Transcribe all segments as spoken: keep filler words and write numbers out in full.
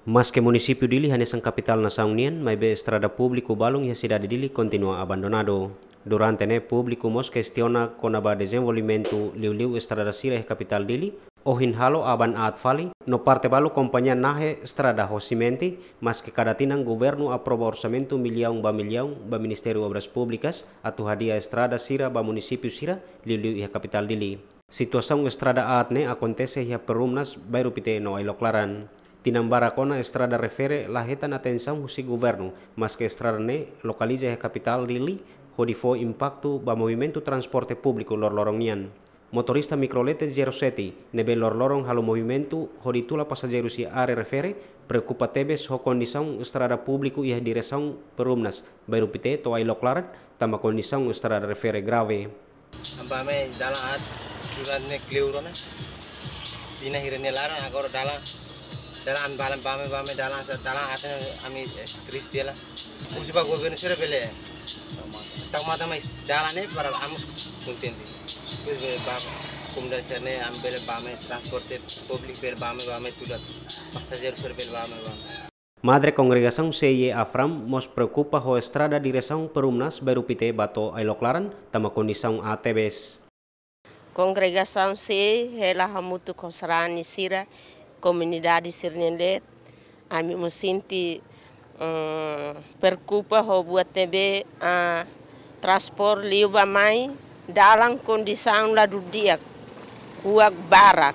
Maske munisípiu Dili hanesan kapitál nasaun nian, maibé estrada públiku balun iha sidade Dili kontinua abandonadu. Durante ne'e públiku mós kestiona kona-ba dezenvolvimentu liuliu estrada sira iha kapitál Dili, ohin halo aban aat fali, no parte balu kompañia nahe estrada ho simente, maske kada tinan governu aprova orsamentu millaun ba millaun ba Ministériu Obras Públikas atu hadi'a estrada sira ba munisípiu sira, liuliu iha kapitál Dili. Situasaun estrada aat ne'e akontese iha Perumnas, Bairru Pite no Ailok Laran. Tinan barak ona estrada refere la hetan atensaun husi governu, maske estrada ne'e lokaliza iha kapitál Dili, hodi fó impaktu ba movimentu transporte públiku loroloron nian. Motorista mikrolete zero sete, ne'ebé loroloron halo movimentu hodi tula pasajeirus iha área refere, preokupa tebes ho kondisaun estrada públiku iha diresaun Perumnas, Bairru Pite to'o Ailok Laran, tanba kondisaun estrada refere grave. Bame dalan aat, surat ne'e kleur ona. Tinan hira-ne'e laran, agora dalan, dalan bala bame, bame dalan, dalan aat ne'e ami, eh, triste la. Husi ba governu sira bele tau matan mai dalan ne'e para ami kontente. Depois bele bame, komunidade sira-ne'e ami bele bame, transporte públiku bele bame, bame tuda. Pasajeiru sira bele bame, bame. Madre kongregasaun C I E Afram mós preokupa ho estrada diresaun Perumnas, Bairru Pite ba to'o Ailok Laran, tanba kondisaun aat tebes. Kongregasaun C I E hela hamutuk ho sarani sira, komunidade sira-nia leet, ami mós sente, eh, preokupa ho buat ne'ebé, ah, transpor liu ba mai, dalan kondisaun ladún di'ak, kuak barak.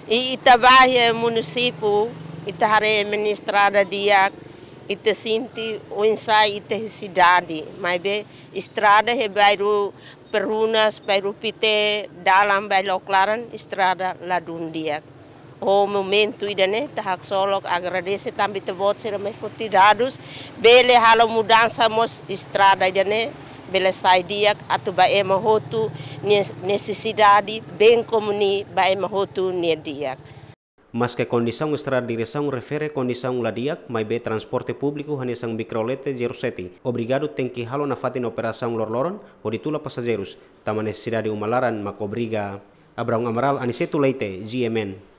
I ita ba iha munisípiu, ita haree ema nia estrada di'ak, ita sente oinsá ita iha sidade, maibé estrada iha bairru Perumnas, Bairru Pite, dalan ba Ailok Laran, estrada ladún di'ak. Ho momentu ida-ne'e, ita haksolok agradese tanba ita-boot sira mai foti dadus, bele halo mudansa mós estrada ida-ne'e, bele sai di'ak, atu ba ema hotu nia nesesidade, bem komún ba ema hotu nia di'ak. Maske kondisaun estrada diresaun refere kondisaun la di'ak, maibé transporte públiku hanesan mikrolete zero sete, obrigadu tenke halo nafatin operasaun loroloron, hodi tula pasajeirus, tanba nesesidade uma laran mak obriga. Abraão Amaral, Aniceto Leite, G M N.